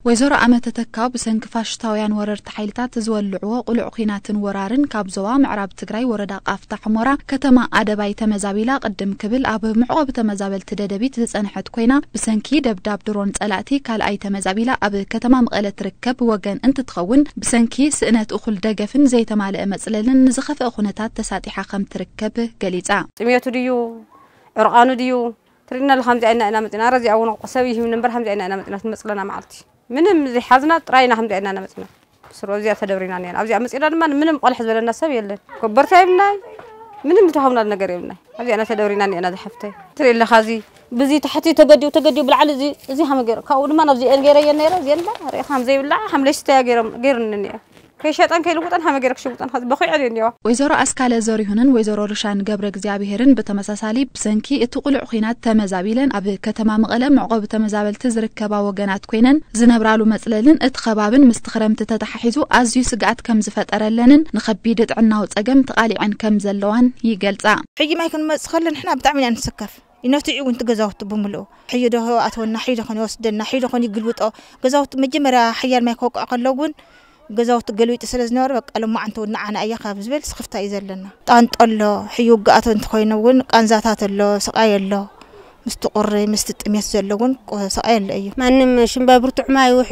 ወይዘሮ ኣመተ ተካው ብሰንኪ ፋሽስታውያን ወረርቲ ሓይልታት ዝወልዕዎ ቅሉዕ ኲናትን ወራርን ካብ ዞባ ምዕራብ ትግራይ ወረዳ ቃፍታ ሕሞራ ከተማ ኣደባይ ተመዛቢላ ቅድም ክብል ኣብ መዕቆቢ ተመዛበልቲ ደደቢት ዝጸንሐት ኮይና፣ ብሰንኪ ደብዳብ ድሮን ጸላእቲ ካልኣይ ተመዛቢላ ኣብ ከተማ መቐለ ትርከብ ወገን እንትትኸውን፣ ብሰንኪ ስእነት እኹል ደገፍን ዘይተማልአ መጽለልን ንዝኸፍአ ኩነታት ተሳጢሓ ከም ትርከብ ገሊጻ። ጥሜቱ ድዩ ዕርቓኑ ድዩ ትርኢና ኣለኻ? ከምዚኣ ኢና ኢና መፂና። ረዚኣ እውን ሰብ ይህብ ነበር ከምዚኣ ኢና ኢና መፂና ትመፅለና መዓልቲ ምንም ዘይሓዝና ጥራይና ከምዚኣ ኢና ኢና መፂና። ስሮ እዚኣ ተደብሪና እኒአና። ኣብዚኣ መፂና ድማ ምንም ቆልሕ ዝበለና ሰብ የለን። ኮበርታ የብልናይ፣ ምንም ዝተዋሃብና ነገር የብልናይ። ኣብዚኣ ኢና ተደብሪና እኒአና ዝሓፍተይ። ትርኢ ኣለኻ እዚ ብዚ ታሕቲ ተገዲኡ ተገዲኡ ብላዕሊ እዚ እዚ ሃመ ገይሩ ካብኡ ድማ ናብዚአን ገይረየን ነይረ እዚአን ባ ርኢኻ ከም ዘይብላዕ ከም ለይስተያ ገይሮም ገይሩኒ እኒአ። ከይሸጠን ከይልውጠን ሃመ ገይረ ክሽውጠን ከዚ በኺዐን እኒዋ። ወይዘሮ ኣስካለ ዘሪሁንን ወይዘሮ ርሻን ገብረ እግዚኣብሄርን ብተመሳሳሊ ብሰንኪ እቲ ቅሉዕ ኹናት ተመዛቢለን ኣብ ከተማ መቐለ መዕቆቢ ተመዛበልቲ ዝርከባ ወገናት ኮይነን ዝነብራሉ መጽለልን እቲ ከባብን ምስቲ ክረምቲ ተተሓሒዙ ኣዝዩ ስግኣት ከም ዝፈጠረለንን ንኸቢድ ጥዕናዊ ጸገም ተቓሊዐን ከም ዘለዋን ይገልጻ። ሕጂ ማይ ክንመጽእ ከለና ንሕና ብጣዕሚ ኢና ንስከፍ። ይነትዑ እውን እቲ ገዛውቲ ብምልኡ። ሕዩ ዶ ኣትወና፣ ሕዩ ዶ ኾን ይወስደና፣ ሕዩ ዶ ኾን ይግልብጦ። ገዛውቲ መጀመርያ ሓያል ማይ ከውቅዖ ከሎ እውን ገዛውቲ ገልቢጡ ስለ ዝነበረ በቃ ሎማዓንቲ እውን ንዓና እያ ካብ ዝብል ስኽፍታ እዩ ዘለና። ጣንጦ ኣሎ፣ ሕዩ ውግኣት እንተኾይኑ እውን ቃንዛታት ኣሎ፣ ስቓይ ኣሎ። ምስቲ ቁሪ፣ ምስቲ ጥሜት ዘሎ እውን ቆ-፣ ስቓይ ኣሎ እዩ። ማንም ሽምባይ ብርቱዕ ማይ ውሒ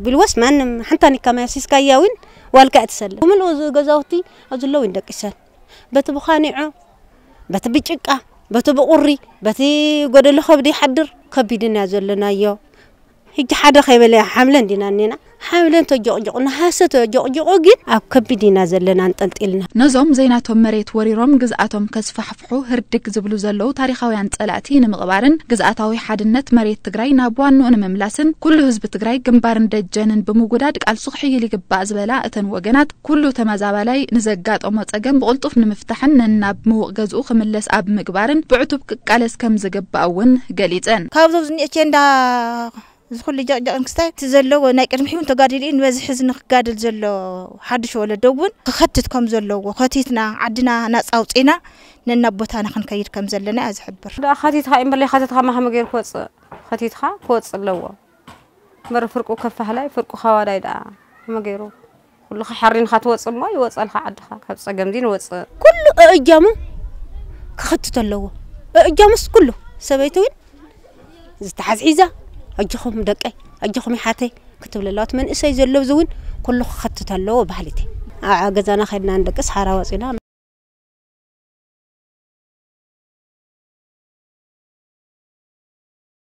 ቢልወስ ማንም ሓንታ ኒካ ማይ ኣፍሲስካያ እውን ዋልካ እትሰለ። ብምልኡ እዚ ገዛውቲ ኣብዚ ኣለዉ ይንደቂሰን። በቲ ብኻኒዖ፣ በቲ ብጭቃ፣ በቲ ብቁሪ፣ በቲ ጎደሎ ከብዲ ይሓድር። ከቢድና ዘለናዮ። ሕጂ ሓደ ከይበለ ሓምለ እንዲና እኒና። ሓምለ እንተጆቕጆቕ፣ ነሃሰ ተጆቕጆቑ ግን ኣብ ከቢድ ኢና ዘለና ኣንጠልጢልና። ነዞም ዘይናቶም መሬት ወሪሮም ግዝኣቶም ከስፋሕፍሑ ህርድግ ዝብሉ ዘለዉ ታሪኻውያን ጸላእቲ ንምቕባርን ግዝኣታዊ ሓድነት መሬት ትግራይ ናብ ዋንኡ ንምምላስን ኩሉ ህዝቢ ትግራይ ግንባርን ደጀንን ብምውዳድ ቃልሱ ክሕይል ይግባእ ዝበላ እተን ወገናት፣ ኩሉ ተመዛባላይ ንዘጋጠሞ ጸገም ብቕልጡፍ ንምፍታሕን ነናብ ምውቕ ገዝኡ ክምለስ ኣብ ምግባርን ብዕቱብ ክቃለስ ከም ዝግባእ እውን ገሊጸን። ካብዞም ዝኒአ ቸንዳ እዚ ኩሉ ጀቕጀቕ እንክስታይ እቲ ዘለዎ ናይ ቅድሚ ሕውን ተጋዲሉ እዩ። ንበዝሒ እዚ ንክጋደል ዘሎ ሓድሽ ወለዶ እውን ክኸትት ከም ዘለዎ፣ ከቲትና ዓድና ናጻ ኣውፂና ነናብ ቦታና ክንከይድ ከም ዘለና እያ ዝሕብር። ደኣ ከቲትካ እምበር ለይከተትካ ማህመ ገይሩ ክወፅእ፣ ከቲትካ ክወፅእ ኣለዎ። መረ ፍርቁ ከፋህላይ፣ ፍርቁ ከዋዳይ ደኣ ከመ ገይሩ? ኩሉ ከሓሪንካ ትወፅእ እሞ ይወፀልካ ዓድኻ። ካብ ፀገም እዚ ንወፅእ። ኩሉ እእጃሙ ክኸትት ኣለዎ። እእጃሙስ ኩሉ ሰበይቲ እውን ዝተሓዝሒዛ፣ "ኣጆኹም ደቀይ፣ ኣጆኹም ይሓተይ" ክትብል ኣለዋ። እቲ መንእሰይ ዘሎ እዚ እውን ኩሉ ክኸትት ኣለዎ ባህሊቲ። ኣብ ገዛና ከድና ንደቅስ ሓራ ወፂና